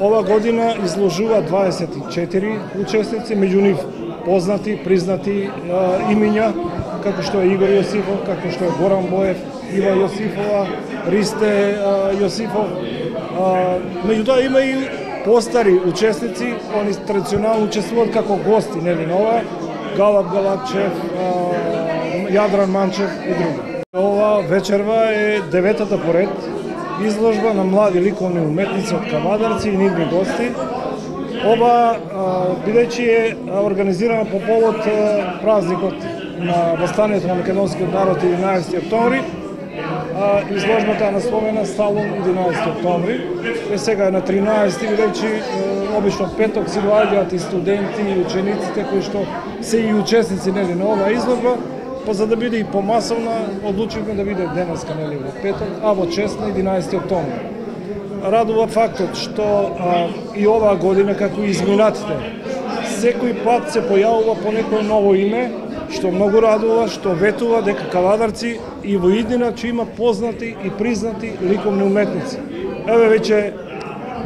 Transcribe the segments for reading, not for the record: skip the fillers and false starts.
Ова година изложува 24 учесници, меѓу нив познати, признати имиња, како што е Игор Јосифов, како што е Горан Боев, Ива Јосифова, Ристе Јосифов. Меѓутоа има и постари учесници, они традиционално учествуваат како гости, нели нова, Галап Галапчев, Јадран Манчев и други. Ова вечерва е 9-та поред изложба на млади ликовни уметници од Кавадарци и нивни гости. Ова бидејќи е организирана по повод празникот на Востанието на македонскиот народ 11 октомври, изложбата е насловена Салун 11 октомври. Сега е на 13, бидејќи обично петок си доаѓаат и студенти и учениците кои што се и учесници нели на оваа изложба, па за да биде и помасовна, одлучивме да биде денеска нели во петок, а во чест на 11 октомври. Радува фактот што и оваа година, како и изминатите, секој пат се појавува по некое ново име, што многу радува, што ветува дека Кавадарци и во иднина ќе има познати и признати ликовни уметници. Еве веќе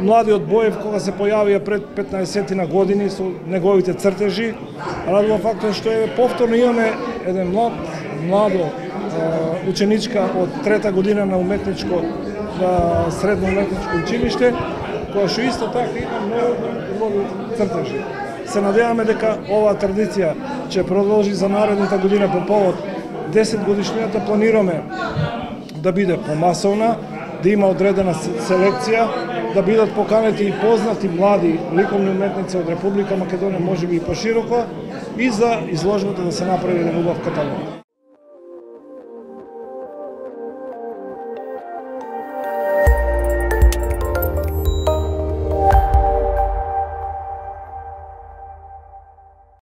младиот Боев, кога се појавија пред 15 на години со неговите цртежи, радува фактот што повторно имаме еден младо ученичка од трета година на уметничко средно уметничко училиште, која што исто така има многу цртежи. Се надеваме дека оваа традиција ќе продолжи за наредната година по повод 10 годишнината. Планираме да биде помасовна, да има одредена селекција, да бидат поканети и познати млади ликовни уметници од Република Македонија, можеби и пошироко, и за изложбата да се направи еден убав каталог.